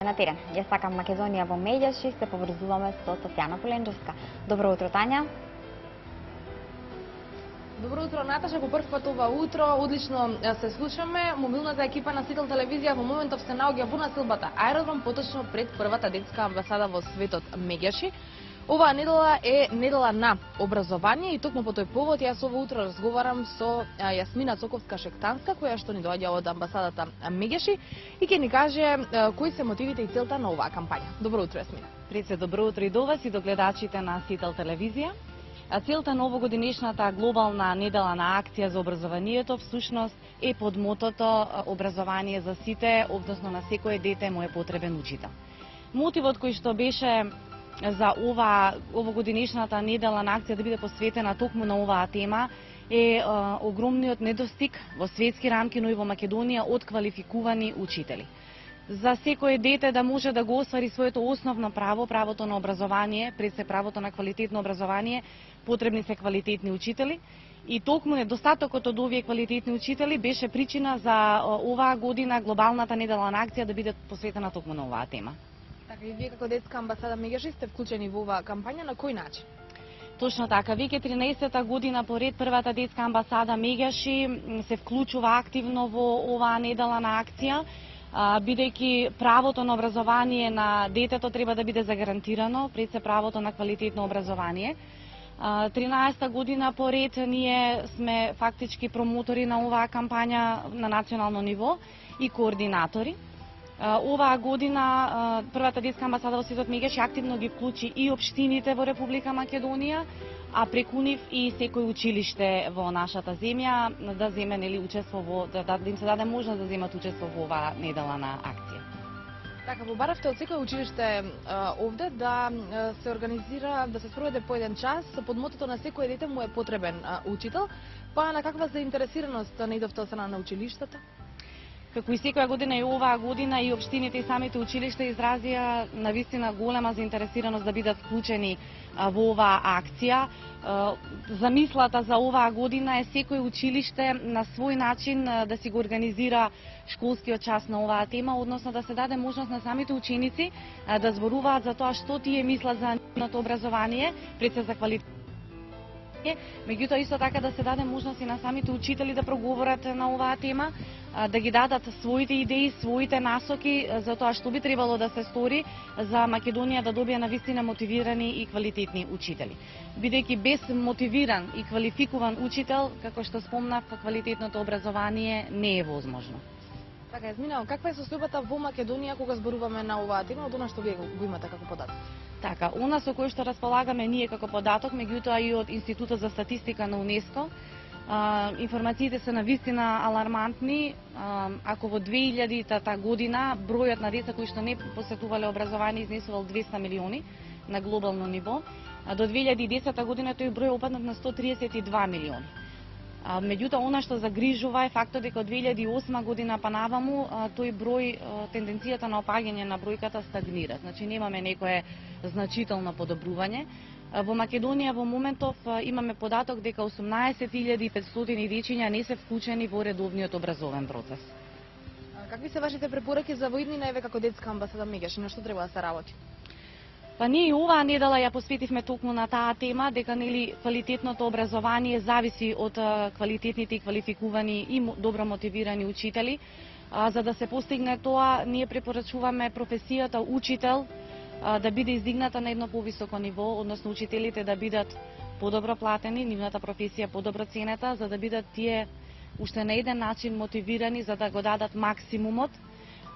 На терен. Ја сакам Македонија во медијаши, се поврзуваме со Софјана Поленџевска. Добро утро, Тања. Добро утро, Наташа. По прв пат ова утро одлично се слушаме. Мобилната екипа на Сител телевизија во моментов се наоѓа во насилбата аеродром, поточно пред првата детска амбасада во светот Меѓаши. Оваа недела е недела на образование и токму по тој повод јас ово утро разговарам со Јасмина Цоковска-Шектанска, која што ни доаѓа од амбасадата Меѓаши и ќе ни каже кои се мотивите и целта на оваа кампања. Добро утро, Јасмина. Пред се добро утро и до вас и до гледачите на Сител телевизија. Целта на овогодишната глобална недела на акција за образованието всушност е под мотото образование за сите, односно на секое дете му е потребен учител. Мотивот кој што беше за овогодинешната недела на акција да биде посветена токму на оваа тема е огромниот недостиг во светски рамки, но и во Македонија од квалификувани учители. За секое дете да може да го оствари своето основно право, правото на образование, пред се правото на квалитетно образование, потребни се квалитетни учители. И токму недостатокот од овие квалитетни учители беше причина за оваа година глобалната недела на акција да биде посветена токму на оваа тема. Така и вие како детска амбасада Меѓаши сте вклучени во оваа кампања, на кој начин? Точно така, веќе 13-та година поред првата детска амбасада Меѓаши се вклучува активно во оваа недела на акција, бидејќи правото на образование на детето треба да биде загарантирано, пред се правото на квалитетно образование. 13-та година поред ние сме фактички промотори на оваа кампања на национално ниво и координатори. Оваа година првата детска амбасада во светот Меѓаши активно ги вклучи и општините во Република Македонија, а преку нив и секој училиште во нашата земја да земе учество во да им се даде можност да земат учество во оваа недела на акција. Така, побаравте од секој училиште овде да се организира, да се спроведе по еден час под мотото на секој дете му е потребен учител, па на каква заинтересираност наидовте од страна на училиштата? Како и секоја година и оваа година и општините и самите училишта изразија навистина голема заинтересираност да бидат вклучени во оваа акција. Замислата за оваа година е секој училиште на свој начин да си го организира школскиот час на оваа тема, односно да се даде можност на самите ученици да зборуваат за тоа што тие мислат за нивното образование, пред се за квалитет. Меѓутоа исто така да се даде можност и на самите учители да проговорат на оваа тема, да ги дадат своите идеи, своите насоки за тоа што би требало да се стори за Македонија да добие навистина мотивирани и квалитетни учители. Бидејќи без мотивиран и квалификуван учител, како што спомнав, квалитетното образование не е возможно. Така, Јасмина, каква е состојбата во Македонија кога зборуваме на оваа тема, од она што вие го имате како податок? Така, она со кој што располагаме ние како податок, меѓутоа и од Институтот за статистика на УНЕСКО, информациите се навистина алармантни. Ако во 2000-та година бројот на деца кои што не посетувале образование изнесувал 200 милиони на глобално ниво, до 2010 година тој број опаднат на 132 милиони. Меѓутоа, она што загрижува е фактот дека од 2008 година па наваму тој број, тенденцијата на опаѓање на бројката стагнира. Значи немаме некое значително подобрување. Во Македонија во моментов имаме податок дека 18.500 дечиња не се вклучени во редовниот образовен процес. Какви се вашите препораки за воиднина еве како детска амбасада Меѓаши, на што треба да се работи? Па ние и оваа недела ја посветивме токму на таа тема, дека нели квалитетното образование зависи од квалитетните и квалификувани и добро мотивирани учители. За да се постигне тоа, ние препорачуваме професијата учител да биде издигната на едно повисоко ниво, односно учителите да бидат подобро платени, нивната професија подобро ценета, за да бидат тие уште на еден начин мотивирани за да го дадат максимумот,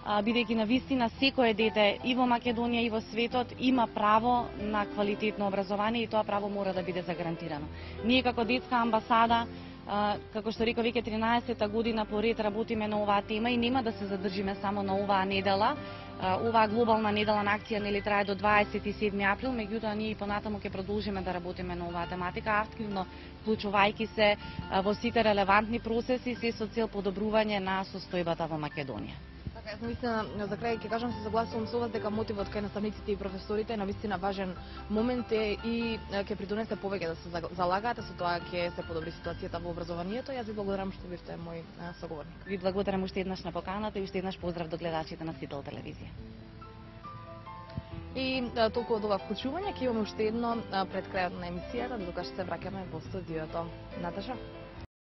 бидејќи навистина секое дете и во Македонија и во светот има право на квалитетно образование и тоа право мора да биде загарантирано. Ние како детска амбасада, како што реков, веќе 13-та година поред работиме на оваа тема и нема да се задржиме само на оваа недела. Оваа глобална недела на акција нели трае до 27 април, меѓутоа ние и понатаму ќе продолжиме да работиме на оваа тематика, активно вклучувајќи се во сите релевантни процеси, се со цел подобрување на состојбата во Македонија. Јас навистина за крај ќе кажам, се согласувам со вас дека мотивот кај наставниците и професорите е навистина важен момент и ќе придонесе повеќе да се залагаат, со тоа ќе се подобри ситуацијата во образованието. Јас ви благодарам што бевте мој соговорник. Ви благодарам уште еднаш на поканата и уште еднаш поздрав до гледачите на Сител телевизија. И толку од ова вклучување ќе имаме уште едно пред крајот на емисијата, докато се враќаме во студиото. Наташа?